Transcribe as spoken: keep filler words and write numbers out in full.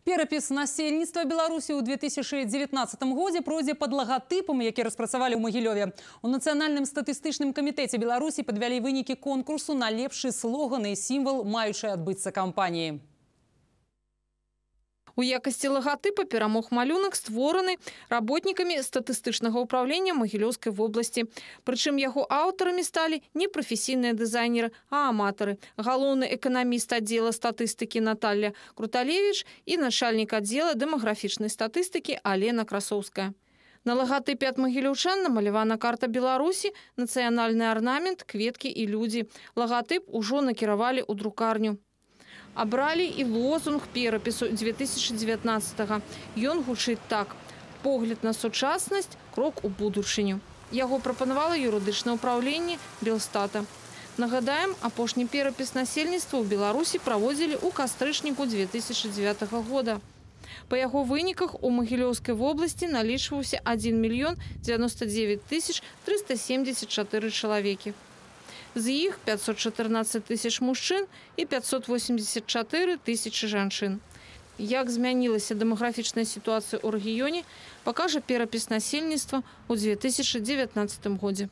Перапіс насельніцтва Беларусі ў две тысячы дзевятнаццатым годзе пройдзе пад лагатыпам, які распрацавалі ў Магілёве. У Нацыянальным статыстычным камітэце Беларусі падвялі вынікі конкурсу на лепшы слоган і сімвал маючай адбыцца кампаніі. У якасці лагатыпа перамог малюнак, створаны работнікамі статыстычнага ўправлення Магілёўскай вобласці. Прычым яго аўтарамі сталі не прафесійныя дызайнеры, а аматары. Галоўны эканаміст аддзела статыстыкі Наталья Круталевіч і начальнік аддзела дэмаграфічнай статыстыкі Алена Красоўская. На лагатыпе ад магілёўчан намалявана карта Беларусі, нацыянальны арнамент, кветкі і людзі. Лагатып ужо накіравалі ў друкарню. Абралі і лозунг перапісу две тысячы дзевятнаццатага. Ён гучыць так: погляд на сучаснасць, крок у будучыню. Яго прапанавала юрыдычнае ўпраўленне Белстата. Нагадаем, апошні перапіс насельніцтва ў Беларусі праводзілі ў кастрычніку две тысячы дзевятага года. Па яго выніках у Магілёўскай вобласці налічваўся адзін мільён дзевяноста дзевяць тысяч трыста семдзесят чатыры чалавекі. З іх пятьсот чатырнаццаць тысяч мужчын і пятьсот восемьдесят чатыры тысячы жанчын. Як змянілася дэмаграфічная сітуацыя ў рэгіёне, пакажа перапіс насельніцтва ў две тысячы дзевятнаццатым годзе.